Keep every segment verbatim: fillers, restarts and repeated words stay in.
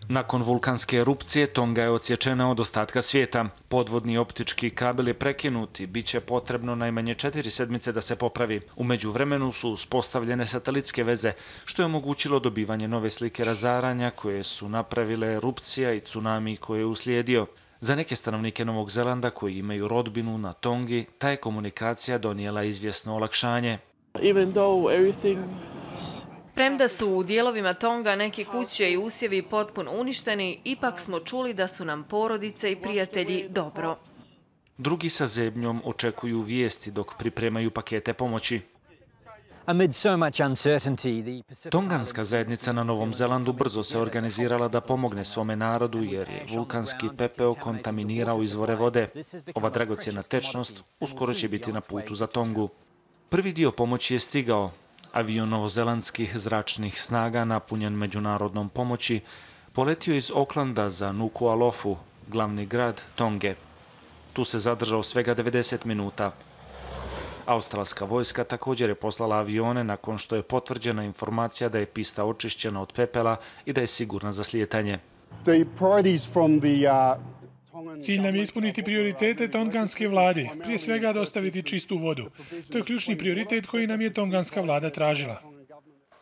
Nakon vulkanske erupcije, Tonga je odsječena od ostatka svijeta. Podvodni optički kabel je prekinut i bit će potrebno najmanje četiri sedmice da se popravi. U međuvremenu su uspostavljene satelitske veze, što je omogućilo dobivanje nove slike razaranja koje su napravile erupcija i tsunami koje je uslijedio. Za neke stanovnike Novog Zelanda koji imaju rodbinu na Tongi, ta je komunikacija donijela izvjesno olakšanje. Premda su u dijelovima Tonga neke kuće i usjevi potpuno uništeni, ipak smo čuli da su nam porodice i prijatelji dobro. Drugi sa zebnjom očekuju vijesti dok pripremaju pakete pomoći. Tonganska zajednica na Novom Zelandu brzo se organizirala da pomogne svome narodu jer je vulkanski pepeo kontaminirao izvore vode. Ova dragocjena tečnost uskoro će biti na putu za Tongu. Prvi dio pomoći je stigao. Avion novozelandskih zračnih snaga napunjen međunarodnom pomoći poletio iz Aucklanda za Nuku'alofu, glavni grad Tonge. Tu se zadržao svega devedeset minuta. Australska vojska također je poslala avione nakon što je potvrđena informacija da je pista očišćena od pepela i da je sigurna za slijetanje. Cilj nam je ispuniti prioritete tonganske vlade, prije svega dostaviti čistu vodu. To je ključni prioritet koji nam je tonganska vlada tražila.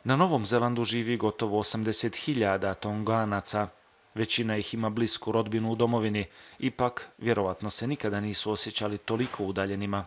Na Novom Zelandu živi gotovo osamdeset hiljada Tonganaca. Većina ih ima blisku rodbinu u domovini, ipak vjerovatno se nikada nisu osjećali toliko udaljenima.